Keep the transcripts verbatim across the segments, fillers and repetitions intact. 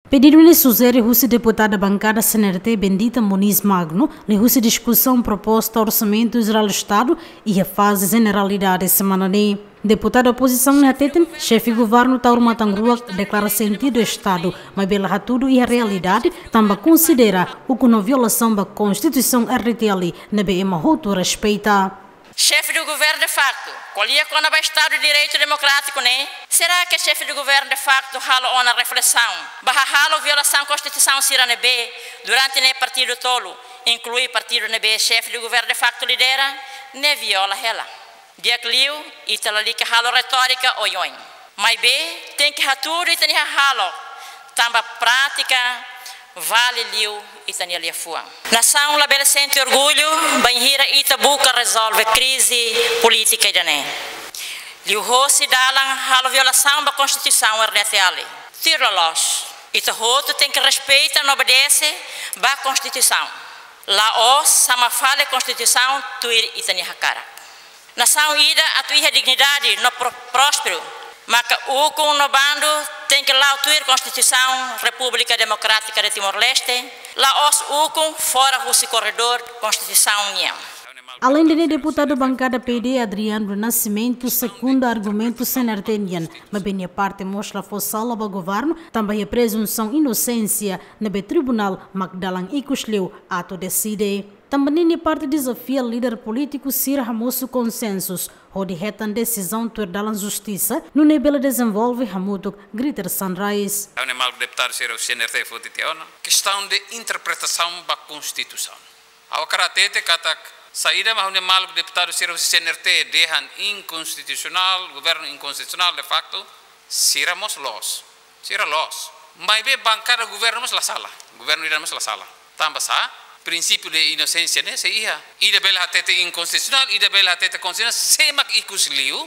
Pedidu ne'e sujere husi deputada bankada C N R T Bendita Moniz Magno, liuhusi diskusaun proposta Orsamentu Jerál Estadu iha faze jeneralidade semana ne'e. Deputada opozisaun ne'e hateten, xefe governu Taur Matan Ruak deklara sentidu Estadu, maibé la hatudu iha realidade, tanba konsidera ukun no violasaun ba Konstituisaun R D T L, ne'ebé ema hotu respeita. Xefe do governo de facto, ko'alia kona-ba Estadu de Direitu Demokrátiku ne'e, será que xefe do governo de facto halo ona reflesaun ba hahalo violasaun Konstituisaun sira ne'ebé durante ne'e partidu tolu, inklui partidu ne'ebé xefe do governo de facto lidera, ne'e viola hela? Di'ak liu, ita lalika halo retórika oioin. Maibé, tenke hatudu ita-nia hahalok, tanba prátika vale liu ita-nia liafuan. Nasaun labele sente orgullu bainhira ita buka rezolve krize polítika ida-ne'e liuhosi dalan halo violasaun ba Konstituisaun R D T L. Tuir loloos, ita hotu tenke respeita no obedese ba Konstituisaun. La'ós sama fali Konstituisaun tuir ita-nia hakarak. Nasaun ida atu iha dignidade no pro-, prósperu, maka ukun no bandu tenke la'o tuir Konstituisaun Repúblika Demokrátika de Timor-Leste, la'ós ukun fora husi korredór Konstituisaun nian. Aleinde ne'e, deputadu bankada P D, Adriano do Nascimento, sekunda argumentu C N R T nian, maibé nia parte mós la fó sala ba governu, tanba iha prezunsaun inosénsia, ne'ebé tribunál mak dalan ikus liu atu deside. Tanba ne'e nia parte dezafia líder polítiku sira hamosu konsensu, hodi hetan desizaun tuir dalan justisa, nune'e bele dezenvolve hamutuk Greater Sunrise. Ha'u-nia maluk deputadu sira husi C N R T foti tiha ona. Kestaun de interpretasaun ba Konstituisaun. Ha'u hakarak hatete katak saida mak ha'u-nia maluk deputadu sira husi C N R T dehan inkonstitusionál, governu inkonstitusionál de facto, sira mós loos. Sira loos. Maibé bankada governu mós la sala. Governu ida mós la sala. Tanba sá, prinsípiu de inosénsia ne'e sei iha. Ida bele hatete inkonstitusionál, ida bele hatete konstitusionál, sé mak ikus liu,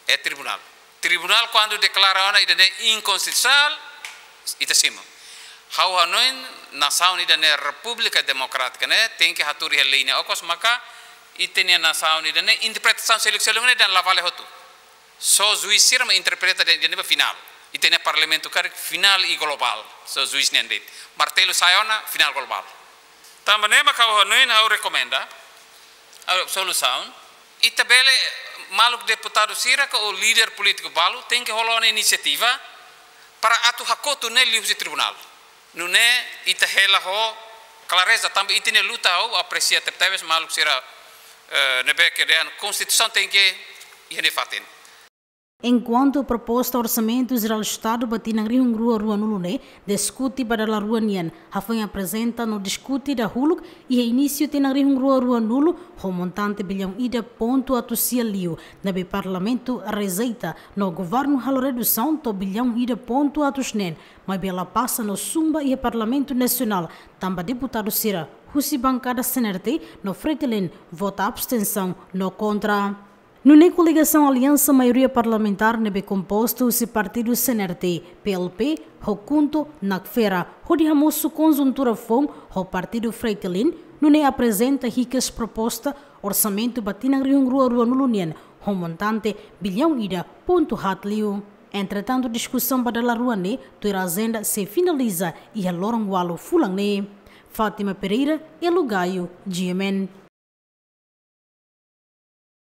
é tribunál. Tribunál kuandu deklara ona ida-ne'e inkonstitusionál, ita simu. Ha'u hanoin nasaun ida-ne'e Repúblika Demokrátika ne'e tenke hatuur iha lei ne'e okos maka ita-nia nasaun ida-ne'e interpretasaun seluk-seluk ne'e dehan la vale hotu. Só juís sira mak interpreta de'it, de'it ba finál. Ita-nia parlamentu karik finál i globál. Só juís nian de'it. Martelu sai ona, finál globál. Tanba ne'e mak ha'u hanoin ha'u rekomenda, ha'u solusaun, ita bele maluk deputadu sira ka ou líder polítiku balu tenke hola ona inisiativa para atu hakotu ne'e liuhusi tribunál. Nune'e ita hela ho klareza tanba ita-nia luta, ha'u apresia tebetebes maluk sira, eh, ne'ebé ke dehan Konstituisaun tenke iha nia fatin. Enkuantu proposta Orsamentu Jerál Estadu ba tinan rihun rua ruanulu ne'e diskute ba dala rua nian, hafoin aprezenta no diskute dahuluk iha inísiu tinan rihun rua ruanulu ho montante billaun ida pontu atus sia liu, ne'ebé Parlamentu rejeita no governu halo redusaun to'o billaun ida pontu atus neen, maibé la pasa no zumba iha Parlamentu Nasionál, tanba deputadu sira husi bankada C N R T no Fretilin vota abstensaun no kontra. Nune'e koligasaun Aliansa Maioria Parlamentár ne'ebé kompostu husi partidu C N R T, P L P, ho KHUNTO, NACFERA, hodi hamosu konjuntura foun ho partidu Fretilin, nune'e aprezenta hikas proposta orsamentu ba tinan rihun rua ruanulu nian ho montante billaun ida pontu haat liu. Entretantu, diskusaun ba dala rua ne'e tuir ajenda sei finaliza iha loron ualu fulan ne'e. Fátima Pereira, Elo Gaio, G M N.